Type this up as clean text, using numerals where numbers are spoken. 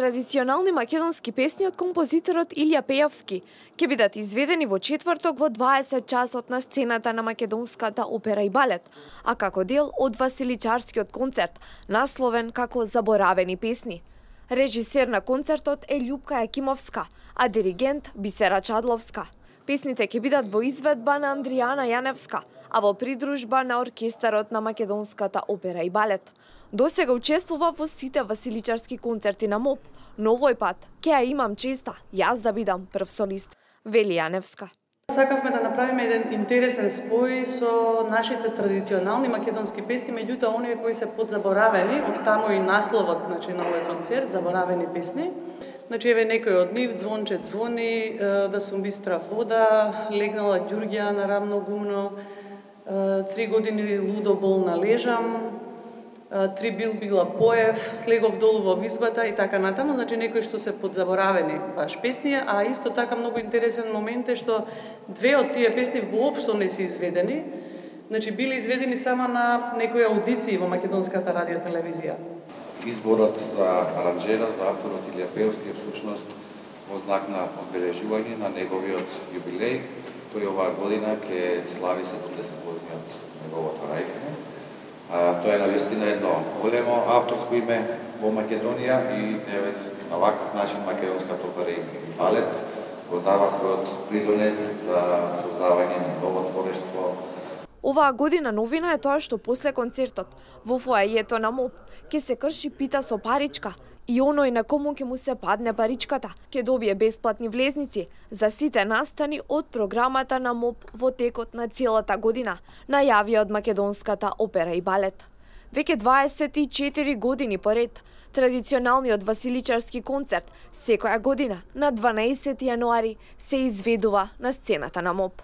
традиционални македонски песни од композиторот Илија Пејовски ќе бидат изведени во четврток во 20 часот на сцената на Македонската опера и балет, а како дел од Василичарскиот концерт, насловен како Заборавени песни. Режисер на концертот е Љупка Јакимовска, а диригент Бисера Чадловска. Песните ќе бидат во изведба на Андријана Јаневска, а во придружба на оркестарот на Македонската опера и балет. Досега учествува во сите Василичарски концерти на МОП, но овој пат ќе ја имам честа јас да бидам прв солист, вели Јаневска. Сакавме да направиме еден интересен спој со нашите традиционални македонски песни, меѓутоа оние кои се подзаборавени, од таму и насловот, на овој концерт, Заборавени песни. Еве некој од нив: Звонче звони, да сум бистра вода, легнала ѓурѓа на рамно гумно, 3 години лудо болна лежам, 3 била поев, слегов долу во визбата и така натаму, некои што се подзаборавени баш песни, а исто така многу интересен момент е што две од тие песни воопшто не се изведени, били изведени само на некои аудиции во македонската радиотелевизија. Изборот за аранжера, за авторот Илија Пејовски е всушност во знак на одбележување на неговиот јубилеј. Тој оваа година ќе слави 70 години од неговото раѓање. Тоа е навистина едно големо авторско име во Македонија и на ваков начин македонската опера и балет го дава својот придонес за создавање на ново творештво. Оваа година новина е тоа што после концертот во фоајето на МОП ќе се крши пита со паричка и оној на кому ќе му се падне паричката ќе добие бесплатни влезници за сите настани од програмата на МОП во текот на целата година, најави од Македонската опера и балет. Веќе 24 години поред, традиционалниот Василичарски концерт секоја година на 12 јануари се изведува на сцената на МОП.